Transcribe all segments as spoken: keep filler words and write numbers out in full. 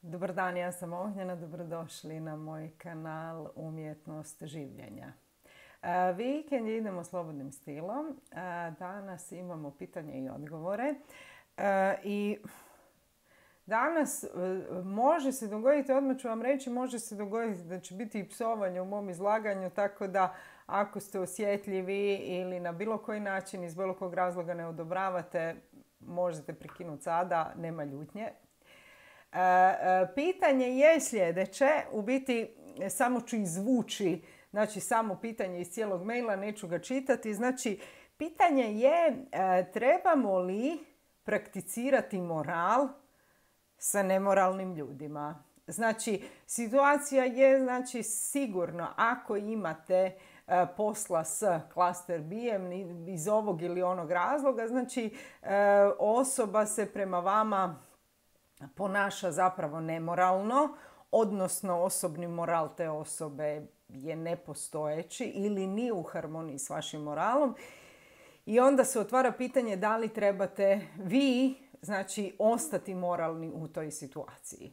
Dobar dan, ja sam Ognjena, dobrodošli na moj kanal Umjetnost življenja. Vikend idemo slobodnim stilom. Danas imamo pitanje i odgovore. I danas može se dogoditi, odmah ću vam reći, može se dogoditi da će biti i psovanje u mom izlaganju, tako da ako ste osjetljivi ili na bilo koji način iz bilo kog razloga ne odobravate, možete prekinuti sada, nema ljutnje. Pitanje je sljedeće, u biti samo ću izvući, znači samo pitanje iz cijelog maila, neću ga čitati. Znači, pitanje je trebamo li prakticirati moral sa nemoralnim ljudima. Znači, situacija je znači, sigurno ako imate posla s klaster B-em iz ovog ili onog razloga, znači osoba se prema vama ponaša zapravo nemoralno, odnosno osobni moral te osobe je nepostojeći ili nije u harmoniji s vašim moralom. I onda se otvara pitanje da li trebate vi, znači, ostati moralni u toj situaciji.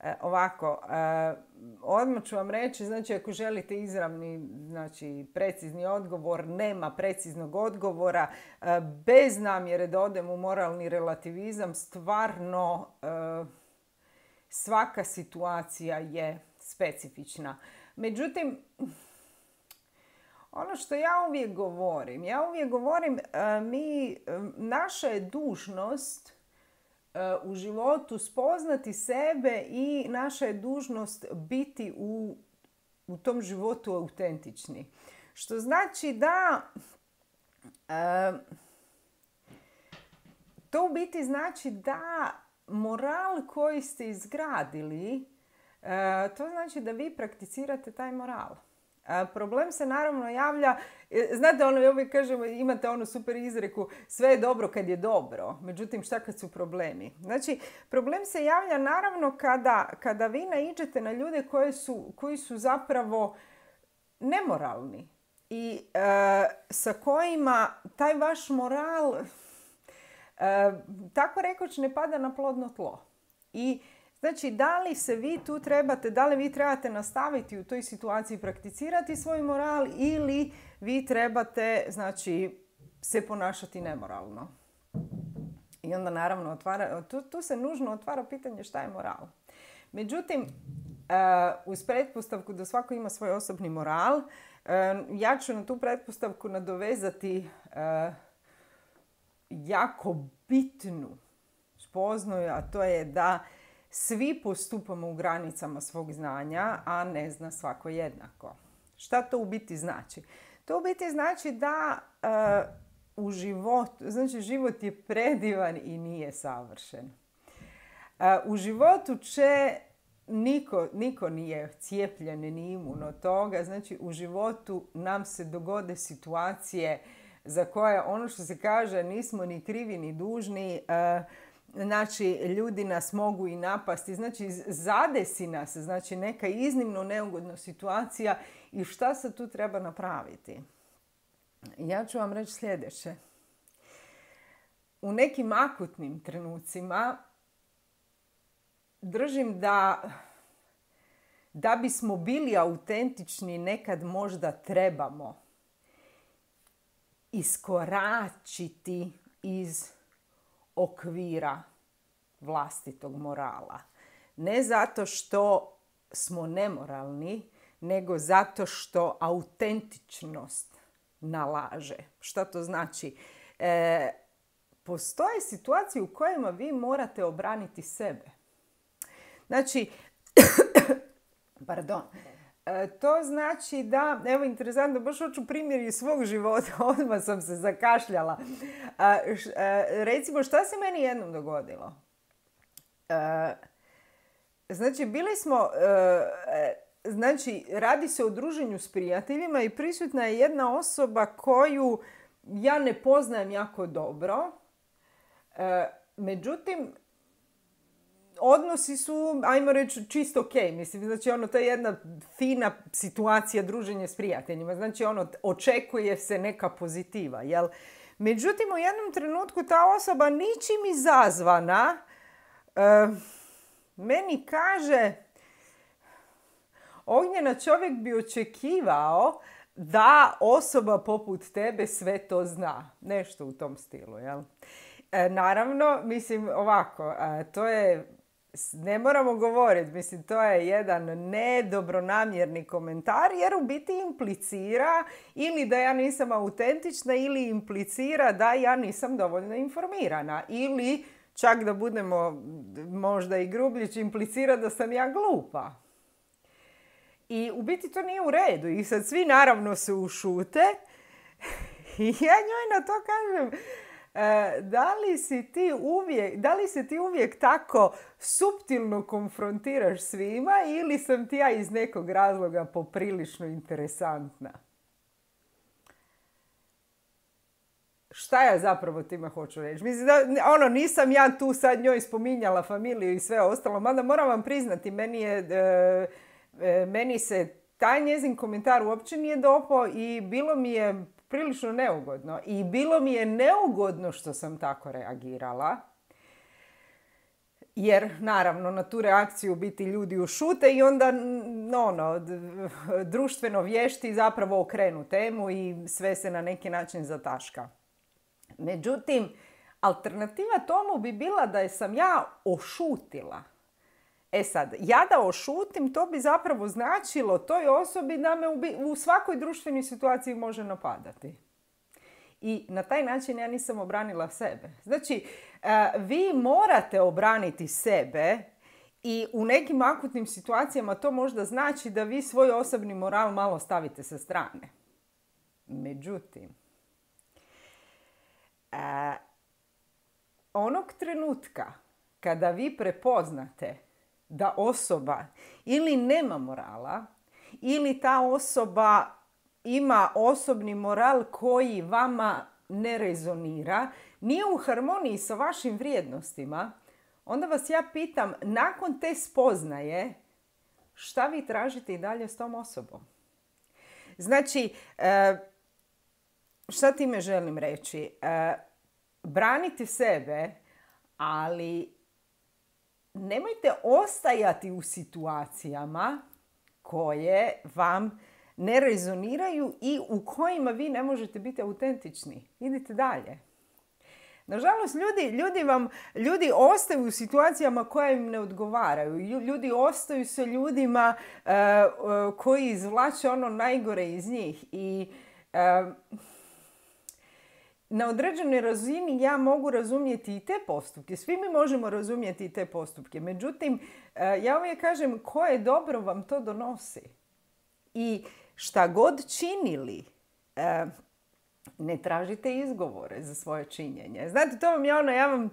E, ovako, e, odmah ću vam reći, znači ako želite izravni, znači precizni odgovor, nema preciznog odgovora, e, bez namjere da odem u moralni relativizam, stvarno e, svaka situacija je specifična. Međutim, ono što ja uvijek govorim, ja uvijek govorim, e, mi, naša je dužnost u životu spoznati sebe i naša je dužnost biti u, u tom životu autentični. Što znači da e, to u biti znači da moral koji ste izgradili, e, to znači da vi prakticirate taj moral. Problem se naravno javlja, znate ono, ja uvijek kažem, imate onu super izreku, sve je dobro kad je dobro, međutim šta kad su problemi? Znači, problem se javlja naravno kada, kada vi naiđete na ljude koji su, koji su zapravo nemoralni i e, sa kojima taj vaš moral, e, tako rekoć, ne pada na plodno tlo. I znači, da li se vi tu trebate, da li vi trebate nastaviti u toj situaciji prakticirati svoj moral ili vi trebate, znači, se ponašati nemoralno. I onda naravno otvara, tu, tu se nužno otvara pitanje šta je moral. Međutim, uh, uz pretpostavku da svako ima svoj osobni moral, uh, ja ću na tu pretpostavku nadovezati uh, jako bitnu spoznaju, a to je da svi postupamo u granicama svog znanja, a ne zna svako jednako. Šta to u biti znači? To u biti znači da uh, u životu, znači život je predivan i nije savršen. Uh, u životu će niko, niko nije cijepljen ni imun od toga, znači u životu nam se dogode situacije za koje ono što se kaže nismo ni krivi ni dužni, uh, znači ljudi nas mogu i napasti, znači zadesi nas, znači neka iznimno neugodna situacija i šta se tu treba napraviti? Ja ću vam reći sljedeće. U nekim akutnim trenucima držim da da bismo bili autentični nekad možda trebamo iskoračiti iz okvira vlastitog morala. Ne zato što smo nemoralni, nego zato što autentičnost nalaže. Šta to znači? E, postoje situacije u kojima vi morate obraniti sebe. Znači, pardon, e, to znači da, evo interesantno, baš hoću primjer iz svog života, odmah sam se zakašljala. E, š, e, recimo, šta se meni jednom dogodilo? E, znači, bili smo, e, znači, radi se o druženju s prijateljima i prisutna je jedna osoba koju ja ne poznajem jako dobro. E, međutim, odnosi su, ajmo reći, čisto ok. Mislim, znači, ono, to je jedna fina situacija druženja s prijateljima. Znači, ono, očekuje se neka pozitiva, jel? Međutim, u jednom trenutku ta osoba ničim izazvana, uh, meni kaže, Ognjena, čovjek bi očekivao da osoba poput tebe sve to zna. Nešto u tom stilu, jel? E, naravno, mislim ovako, e, to je, ne moramo govoriti, mislim, to je jedan nedobronamjerni komentar jer u biti implicira ili da ja nisam autentična ili implicira da ja nisam dovoljno informirana ili čak da budemo možda i grubljići, implicira da sam ja glupa. I u biti to nije u redu. I sad svi naravno se ušute. I ja njoj na to kažem, e, da li si ti uvijek, da li se ti uvijek tako suptilno konfrontiraš svima ili sam ti ja iz nekog razloga poprilično interesantna? Šta ja zapravo time hoću reći? Mislim da, ono, nisam ja tu sad njoj spominjala familiju i sve ostalo, mada moram vam priznati, meni je... E, Meni se taj njezin komentar uopće nije dopao i bilo mi je prilično neugodno. I bilo mi je neugodno što sam tako reagirala. Jer, naravno, na tu reakciju biti ljudi ušute i onda ono, društveno vješti zapravo okrenu temu i sve se na neki način zataška. Međutim, alternativa tomu bi bila da je sam ja ošutila. E sad, ja da ošutim, to bi zapravo značilo toj osobi da me u, u svakoj društvenoj situaciji može napadati. I na taj način ja nisam obranila sebe. Znači, vi morate obraniti sebe i u nekim akutnim situacijama to možda znači da vi svoj osobni moral malo stavite sa strane. Međutim, onog trenutka kada vi prepoznate da osoba ili nema morala, ili ta osoba ima osobni moral koji vama ne rezonira, nije u harmoniji sa vašim vrijednostima, onda vas ja pitam, nakon te spoznaje, šta vi tražite i dalje s tom osobom? Znači, šta time želim reći? Branite sebe, ali nemojte ostajati u situacijama koje vam ne rezoniraju i u kojima vi ne možete biti autentični. Idite dalje. Nažalost, ljudi, ljudi, vam, ljudi ostaju u situacijama koje im ne odgovaraju. Ljudi ostaju sa ljudima uh, uh, koji izvlače ono najgore iz njih. I uh, na određenoj razini ja mogu razumjeti i te postupke. Svi mi možemo razumjeti i te postupke. Međutim, ja uvijek kažem koje dobro vam to donosi. I šta god činili, ne tražite izgovore za svoje činjenje. Znate, to vam je ono, ja vam,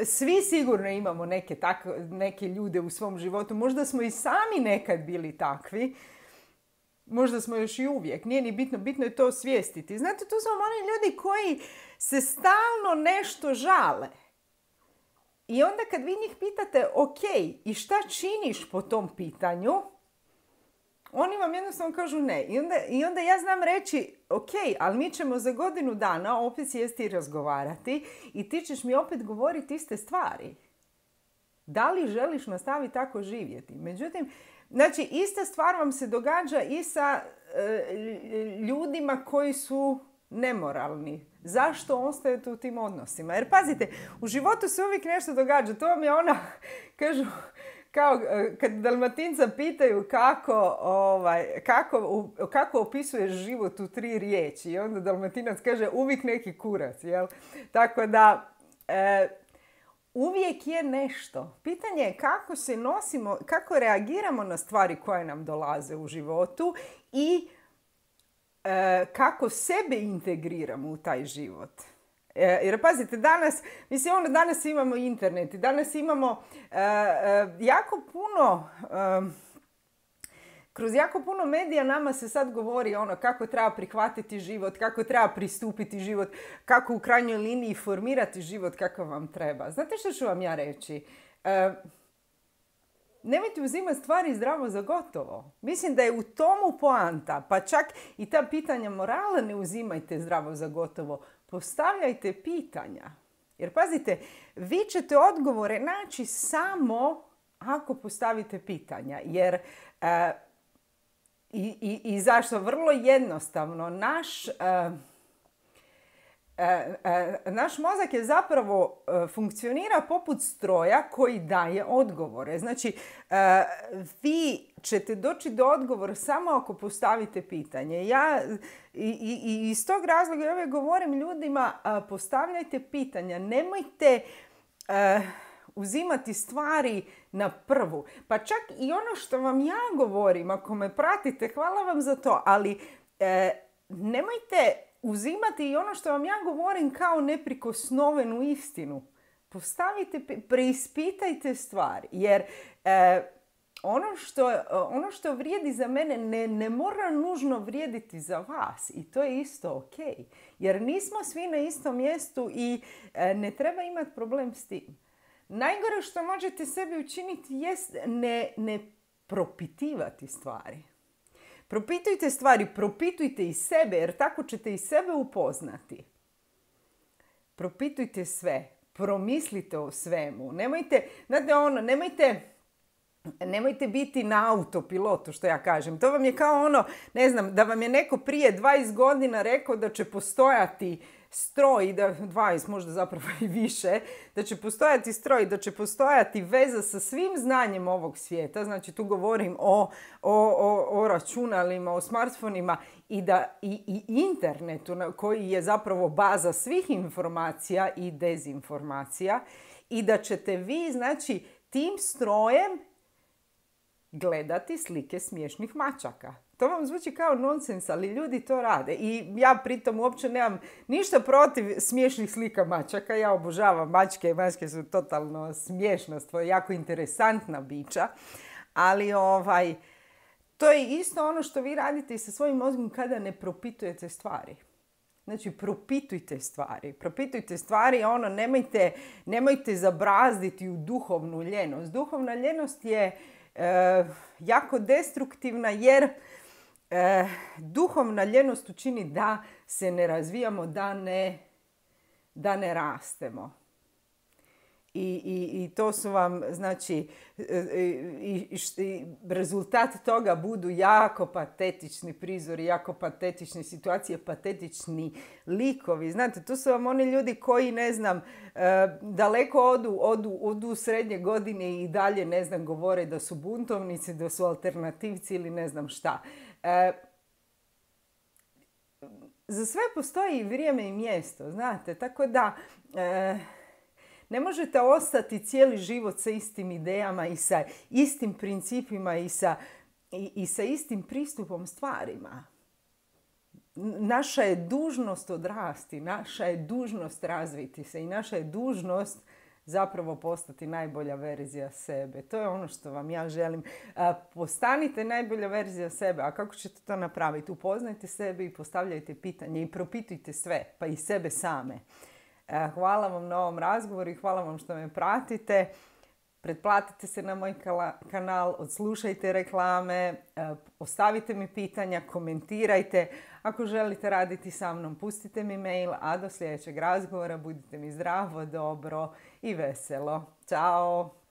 svi sigurno imamo neke, tako, neke ljude u svom životu. Možda smo i sami nekad bili takvi. Možda smo još i uvijek. Nije ni bitno. Bitno je to osvijestiti. Znate, to su oni ljudi koji se stalno nešto žale. I onda kad vi njih pitate, ok, i šta činiš po tom pitanju? Oni vam jednostavno kažu ne. I onda, i onda ja znam reći, ok, ali mi ćemo za godinu dana opet sjesti i razgovarati i ti ćeš mi opet govoriti iste stvari. Da li želiš nastaviti tako živjeti? Međutim, znači, ista stvar vam se događa i sa e, ljudima koji su nemoralni. Zašto ostajete u tim odnosima? Jer pazite, u životu se uvijek nešto događa. To vam je ona, kažu, kao kad Dalmatinca pitaju kako, ovaj, kako, kako opisuješ život u tri riječi. I onda Dalmatinac kaže uvijek neki kurac. Jel? Tako da... E, uvijek je nešto. Pitanje je kako se nosimo, kako reagiramo na stvari koje nam dolaze u životu i e, kako sebe integriramo u taj život. E, jer pazite, danas, mislim, ono, danas imamo internet i danas imamo e, e, jako puno... E, Kroz jako puno medija nama se sad govori ono kako treba prihvatiti život, kako treba pristupiti život, kako u krajnjoj liniji formirati život kakav vam treba. Znate što ću vam ja reći? E, nemojte uzimati stvari zdravo za gotovo. Mislim da je u tomu poanta, pa čak i ta pitanja morala ne uzimajte zdravo za gotovo. Postavljajte pitanja. Jer pazite, vi ćete odgovore naći samo ako postavite pitanja. Jer e, i, i, i zašto? Vrlo jednostavno. Naš... E, E, e, naš mozak je zapravo e, funkcionira poput stroja koji daje odgovore. Znači, e, vi ćete doći do odgovora samo ako postavite pitanje. Ja i, i, i iz tog razloga ja uvijek govorim ljudima, a, postavljajte pitanja. Nemojte e, uzimati stvari na prvu. Pa čak i ono što vam ja govorim, ako me pratite, hvala vam za to, ali e, nemojte uzimati i ono što vam ja govorim kao neprikosnovenu istinu. Postavite, preispitajte stvari. Jer e, ono, što, ono što vrijedi za mene ne, ne mora nužno vrijediti za vas. I to je isto ok. Jer nismo svi na istom mjestu i e, ne treba imati problem s tim. Najgore što možete sebi učiniti jest ne, ne propitivati stvari. Propitujte stvari, propitujte i sebe, jer tako ćete i sebe upoznati. Propitujte sve, promislite o svemu. Nemojte, znate ono, nemojte, nemojte biti na autopilotu, što ja kažem. To vam je kao ono, ne znam, da vam je neko prije dvadeset godina rekao da će postojati stroj, da, dvadeset možda zapravo i više, da će postojati stroj, da će postojati veza sa svim znanjem ovog svijeta, znači tu govorim o, o, o, o računalima, o smartfonima i, da, i, i internetu koji je zapravo baza svih informacija i dezinformacija i da ćete vi, znači, tim strojem gledati slike smiješnih mačaka. To vam zvuči kao nonsens, ali ljudi to rade. I ja pritom uopće nemam ništa protiv smiješnih slika mačaka. Ja obožavam mačke i mačke su totalno smiješna stvar, jako interesantna bića. Ali ovaj, to je isto ono što vi radite i sa svojim mozgom kada ne propitujete stvari. Znači, propitujte stvari. Propitujte stvari, ono, nemojte, nemojte zabrazditi u duhovnu ljenost. Duhovna ljenost je e, jako destruktivna jer E, duhovna ljenost učini da se ne razvijamo, da ne, da ne rastemo. I, i, i to su vam, znači, i, i, i rezultat toga budu jako patetični prizori, jako patetične situacije, patetični likovi. Znate, to su vam oni ljudi koji, ne znam, e, daleko odu, odu, odu u srednje godine i dalje, ne znam, govore da su buntovnici, da su alternativci ili ne znam šta. E, za sve postoji vrijeme i mjesto, znate, tako da e, ne možete ostati cijeli život sa istim idejama i sa istim principima i sa, i, i sa istim pristupom stvarima. Naša je dužnost odrasti, naša je dužnost razviti se i naša je dužnost zapravo postati najbolja verzija sebe. To je ono što vam ja želim. Postanite najbolja verzija sebe. A kako ćete to napraviti? Upoznajte sebe i postavljajte pitanje i propitujte sve, pa i sebe same. Hvala vam na ovom razgovoru i hvala vam što me pratite. Pretplatite se na moj kanal, odslušajte reklame, ostavite mi pitanja, komentirajte. Ako želite raditi sa mnom, pustite mi mail, a do sljedećeg razgovora budite mi zdravo, dobro i veselo. Ćao!